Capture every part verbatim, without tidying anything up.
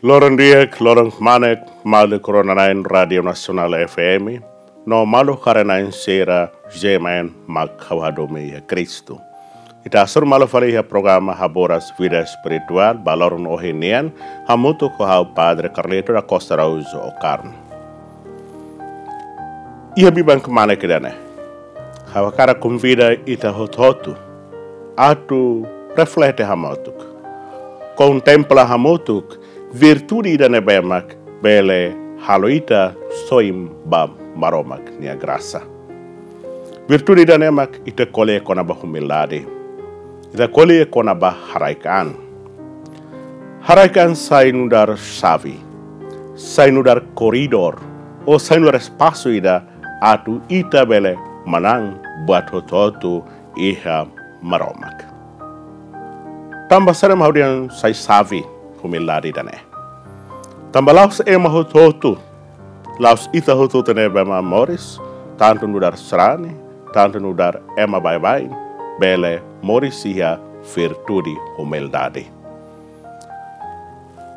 Loron di'ak, loron kmanek, maluk rona-na'in Rádiu Nasionál F M, no maluk haree-na'in sira, G M N mak ha'u hadomi iha Kristu. Ita hasoru malu fali iha programa Haburas Vida Espirituál, ba loron ohin nian, hamutuk ho ha'u Padre Carlito da Costa Araújo Ocarno. Iha biban kmanek ida-ne'e, ha'u hakarak konvida ita hotu-hotu atu reflete hamutuk, kontempla hamutuk virtude ida ne'ebé mak bele halo ita soin ba Maromak nia grasa. Virtude ida-ne'e mak ita ko'alia kona-ba humildade. Ita ko'alia kona-ba haraik-an. Haraik-an sai nu'udar xave, sai nu'udar koridór, ou sai nu'udar espasu ida atu ita bele manán buat hotu-hotu iha Maromak. Tanba saida mak ha'u dehan sai xave humildade ida-ne'e? Tanba la'ós ema hotu-hotu, la'ós ita hotu-hotu ne'ebé mak moris, tantu nu'udar sarani, tantu nu'udar ema baibain, bele moris iha virtude humildade.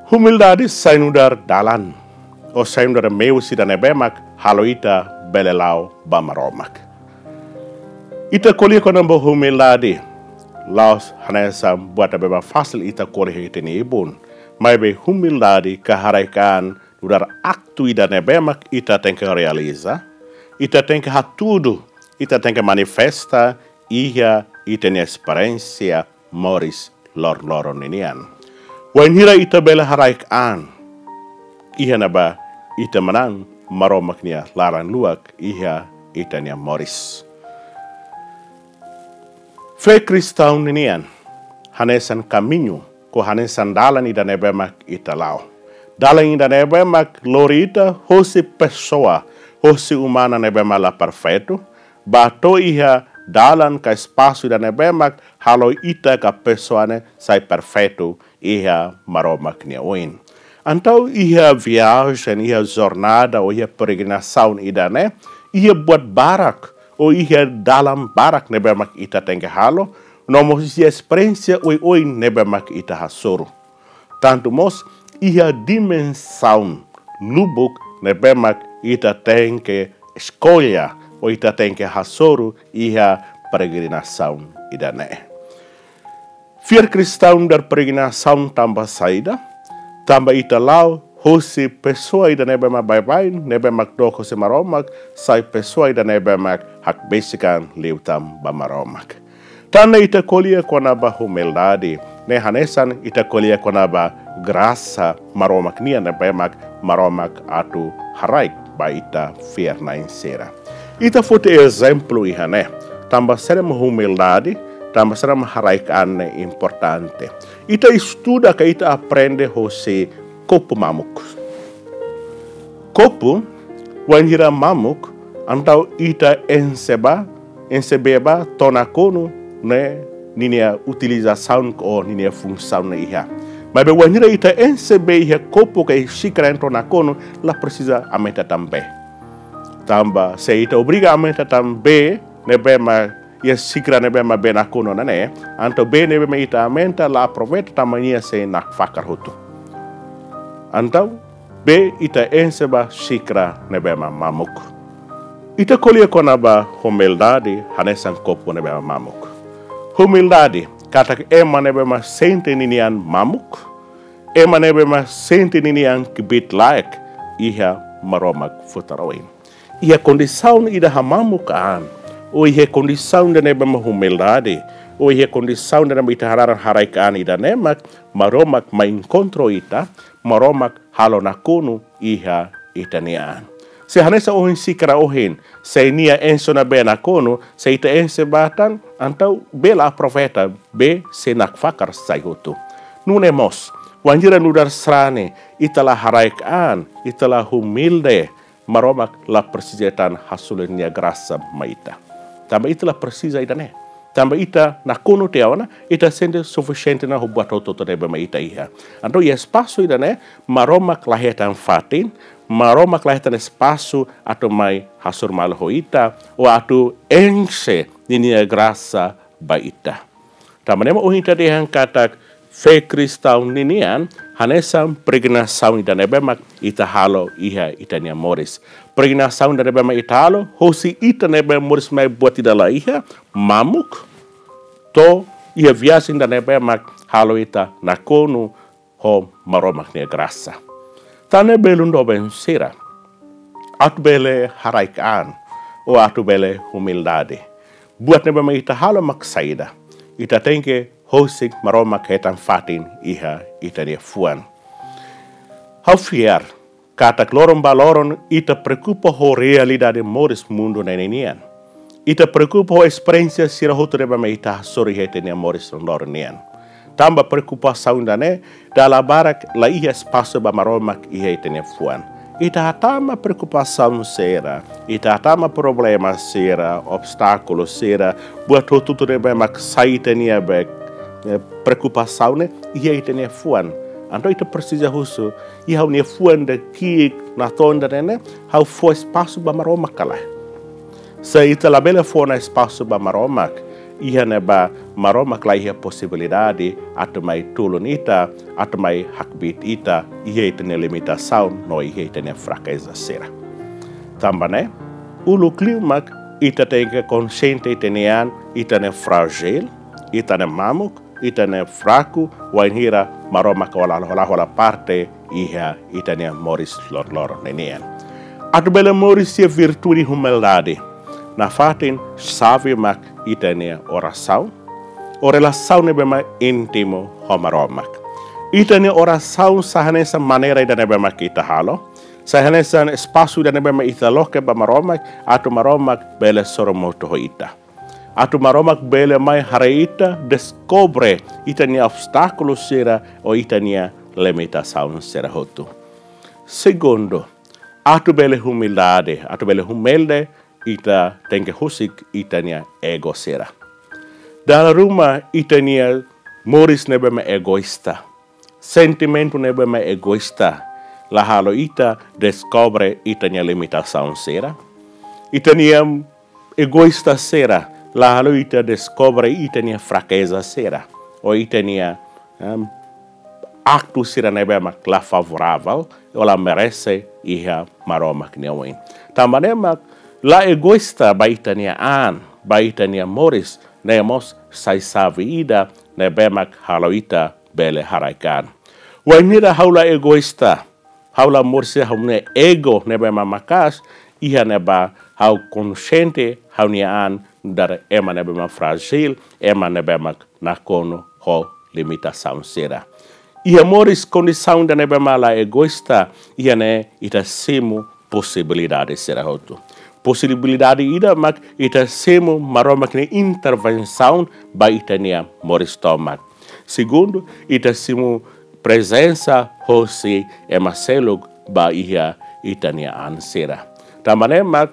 Humildade sai nu'udar dalan, ou sai nu'udar meius ida ne'ebé mak halo ita bele la'o ba Maromak. Ita ko'alia kona-ba humildade, la'ós hanesan buat ne'ebé mak fasil ita ko'alia iha ita-nia ibun. Maibé humildade ka haraik-an nu'udar aktu ida ne'ebé mak ita tenke realiza, ita tenke hatudu, ita tenke manifesta iha ita-nia esperiénsia moris loron-loron ninian. Wainhira ita bele haraik-an, iha ne'ebá ita manán Maromak nia laran-luak iha ita-nia moris. Fé kristaun ninian hanesan kamiñu, ka hanesan dalan ida ne'ebé mak ita la'o. Dalan ida ne'ebé mak lori ita hosi pesoa, hosi umana ne'ebé mak la perfeitu, ba to'o iha dalan ka espasu ida ne'ebé mak halo ita ka pesoa ne'e sai perfeitu iha Maromak nia oin. Entaun iha viajen, iha jornada, ou iha peregrinasaun ida-ne'e, iha buat barak, ou iha dalan barak ne'ebé mak ita tenke halo, no mós iha esperiénsia oioin ne'ebé mak ita hasoru. Tantu mós iha dimensaun lubuk ne'ebé mak ita tenke eskolla, ou ita tenke hasoru iha peregrinasaun ida-ne'e. Fiar kristaun nu'udar peregrinasaun tanba saida? Tanba ita la'o hosi pesoa ida ne'ebé mak baibain, ne'ebé mak dook hosi Maromak, sai pesoa ida ne'ebé mak hakbesik an liután ba Maromak. Tan ne'e ita ko'alia kona-ba humildade, ne'e hanesan ita ko'alia kona-ba grasa Maromak nian ne'ebé mak Maromak atu haraik ba ita fiar-na'in sira. Ita foti ezemplu iha ne'e, tanba saida mak humildade, tanba saida mak haraik-an ne'e importante. Ita estuda ka ita aprende hosi kopu mamuk. Kopu, wainhira mamuk, entaun ita enxe ba, enxe bee ba to'o nakonu ne'e ninia utilizasaun ou ninia funsaun ne'e iha. Maibé wainhira ita enxe bee iha kopu ka xíkara to'o nakonu, la presiza aumenta tan bee. Tanba se ita obriga aumenta tan bee ne'ebé mak iha xíkara ne'ebé mak bee nakonu ona ne'e, entaun bee ne'ebé mak ita aumenta la aproveita tanba nia sei nakfakar hotu. Entaun bee ita enxe ba xíkara ne'ebé mak mamuk. Ita ko'alia kona-ba humildade hanesan kopu ne'ebé mak mamuk. Humildade katak ema ne'ebé mak sente ninian mamuk, ema ne'ebé mak sente ninian kbiit-laek iha Maromak futar oin. Iha kondisaun ida hamamuk an, ou iha kondisaun ida ne'ebé mak humildade, ou iha kondisaun ida ne'ebé mak ita hararan haraik-an ida-ne'e mak Maromak mai enkontru ita, Maromak halo nakonu iha ita-nia an. Se hanesan ohin xíkara ohin, se nia enxe ona bee nakonu, se ita enxe ba tan, entaun bee la aproveita, bee sei nakfakar sai hotu. Nune'e mós, wainhira nu'udar sarani, ita la haraik-an, ita la humilde, Maromak la presiza tan hasoru nia grasa mai ita. Tanba ita la presiza ida-ne'e. Tanba ita nakonu tiha ona, ita sente sufisiente ona ho buat hotu-hotu ne'ebé mak ita iha. Entaun iha espasu ida-ne'e, Maromak la hetan fatin, Maromak la hetan espasu atu mai hasoru malu ho ita, ou atu enxe ninia grasa ba ita. Tanba ne'e mak ohin ita dehan katak Fé kristaun ninian hanesan peregrinasaun ida ne'ebé mak ita halo iha ita-nia moris. Peregrinasaun ida ne'ebé mak ita halo hosi ita ne'ebé moris mai buat ida la iha, mamuk, to'o iha viajen ida ne'ebé mak halo ita nakonu ho Maromak nia grasa. Tan ne'e, belun doben sira, atu bele haraik an, ou atu bele humildade, buat ne'ebé mak ita halo mak saida? Ita tenke husik Maromak hetan fatin iha ita-nia fuan. Ha'u fiar katak loron ba loron ita preokupa ho realidade moris mundu ne'e nian. Ita preokupa ho esperiénsia sira hotu ne'ebé mak ita hasoru iha ita-nia moris loron nian. Tanba preokupasaun ida-ne'e, dala barak la iha espasu ba Maromak iha ita-nia fuan. Ita hatama preokupasaun sira, ita hatama problema sira, obstákulu sira, buat hotu-hotu ne'ebé mak sai ita-nia be, eh, preokupasaun ne'e iha ita-nia fuan. Entaun ita presiza husu, iha ha'u-nia fuan ida ki'ik, natoon ida-ne'e, ha'u fó espasu ba Maromak ka lae? Se ita labele fó ona espasu ba Maromak, iha ne'ebá Maromak la iha posibilidade atu mai tulun ita, atu mai hakbiit ita iha ita-nia limitasaun no iha ita-nia frakeza sira. Tanba ne'e, uluk liu mak ita tenke konxiente ita-nia an, ita ne'e frájil, ita ne'e mamuk, ita ne'e fraku, wainhira Maromak la hola, la hola parte iha ita-nia moris loron-loron ninian. Atu bele moris iha virtude humildade, nafatin xave mak ita-nia orasaun, ou relasaun ne'ebé mak íntimu ho Maromak. Ita-nia orasaun sai hanesan maneira ida ne'ebé mak ita halo, sai hanesan espasu ida ne'ebé mak ita loke ba Maromak, atu Maromak bele sorumutu ho ita. Atu Maromak bele mai haree ita, deskobre ita-nia obstákulu sira ou ita-nia limitasaun sira hotu. Segundu, atu bele humildade, atu bele humilde, ita tenke husik ita-nia ego sira. Dala ruma ita-nia moris ne'ebé mak egoísta, sentimentu ne'ebé mak egoísta, la halo ita deskobre ita-nia limitasaun sira. Ita-nia egoísta sira la halo ita deskobre ita-nia frakeza sira, ou ita-nia, em, aktu sira ne'ebé mak la favorável, ou la merese iha Maromak nia oin. Tanba ne'e mak la egoísta ba ita-nia an, ba ita-nia moris, ne'e mós sai xave ida ne'ebé mak halo ita bele haraik an. Wainhira ha'u la egoísta, ha'u la moris iha ha'u-nia ego ne'ebé mak maka'as, iha ne'ebá ha'u konxiente ha'u-nia an nu'udar ema ne'ebé mak frájil, ema ne'ebé mak nakonu ho limitasaun sira. Iha moris kondisaun ida ne'ebé mak la egoísta, iha ne'e ita simu posibilidade sira hotu. Posibilidade ida mak ita simu Maromak nia intervensaun ba ita-nia moris tomak. Segundu, ita simu prezensa hosi ema seluk ba iha ita-nia an sira. Tanba ne'e mak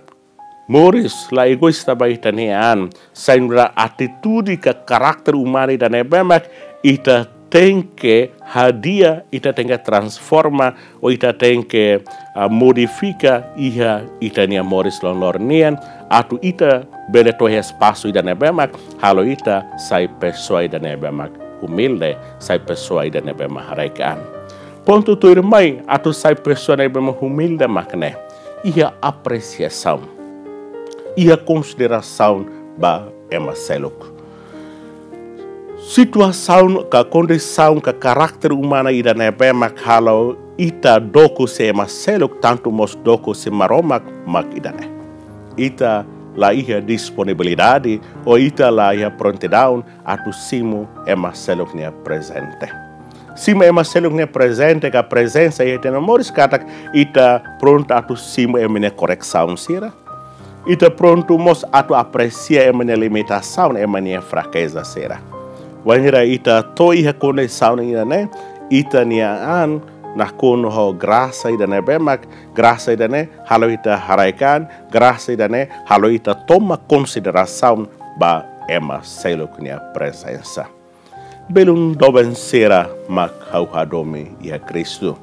moris la egoísta ba ita-nia an sai nu'udar atitude ka karakter umanu ida ne'ebé mak ita tenke hadi'a, ita tenke transforma, ou ita tenke, ah, modifika iha ita-nia moris loron-loron nian, atu ita bele to'o iha espasu ida ne'ebé mak halo ita sai pesoa ida ne'ebé mak humilde, sai pesoa ida ne'ebé mak haraik an. Pontu tuirmai atu sai pesoa ne'ebé mak humilde mak ne'e, iha apresiasaun, iha konsiderasaun ba ema seluk. Situasaun ka kondisaun ka karakter umanu ida ne'ebé mak halo ita dook husi ema seluk, tantu mós dook husi Maromak mak ida-ne'e. Ita la iha disponibilidade, ou ita la iha prontidaun atu simu ema seluk nia prezente. Simu ema seluk nia prezente ka prezensa iha ita-nia moris katak ita prontu atu simu ema nia koresaun sira. Ita prontu mós atu apresia ema nia limitasaun, ema nia frakeza sira. Wainhira ita to'o iha kondisaun ida-ne'e, ita-nia an nakonu ho grasa ida ne'ebé mak, grasa ida-ne'e halo ita haraik an, grasa ida-ne'e halo ita tomak konsiderasaun ba ema seluk nia prezensa. Belun doben sira mak ha'u hadomi iha Kristu,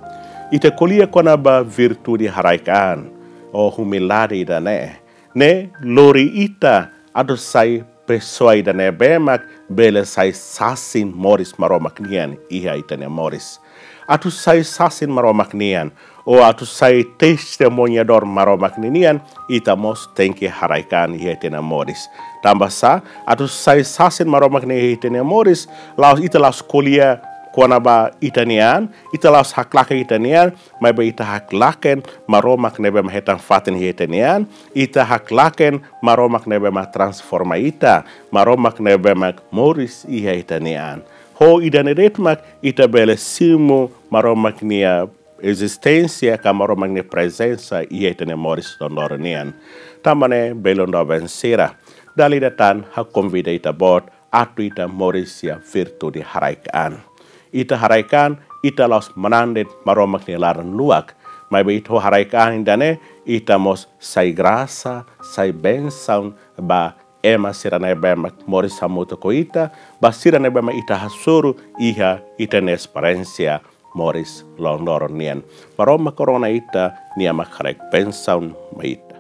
ita ko'alia kona-ba virtude haraik an, ou humildade ida-ne'e, ne'e lori ita atu sai pesoa ida ne'ebé mak bele sai sasin moris Maromak nian iha ita-nia moris. Atu sai sasin Maromak nian, ou atu sai testemuñadór Maromak ninian, ita mós tenke haraik an iha ita-nia moris. Tanba sá, atu sai sasin Maromak nian iha ita-nia moris, la'ós ita la'ós ko'alia kona-ba ita-nia an, ita la'ós haklaken ita-nia an, maibé ita haklaken Maromak ne'ebé mak hetan fatin iha ita-nia an, ita haklaken Maromak ne'ebé mak transforma ita, Maromak ne'ebé mak moris iha ita-nia an. Ho ida-ne'e de'it mak ita bele simu Maromak nia ezisténsia ka Maromak nia prezensa iha ita-nia moris loron-loron nian. Tanba ne'e, belun doben sira, dala ida tan ha'u konvida ita-boot atu ita moris iha virtude haraik an. Ita haraik an, ita la'ós manán de'it Maromak nia laran luak. Maibé ita ho haraik an ida-ne'e, ita mós sai grasa, sai bensaun ba ema sira ne'ebé mak moris hamutuk ho ita, ba sira ne'ebé mak ita hasoru iha ita-nia esperiénsia moris loron-loron nian. Maromak rona ita, Nia mak haraik bensaun mai ita.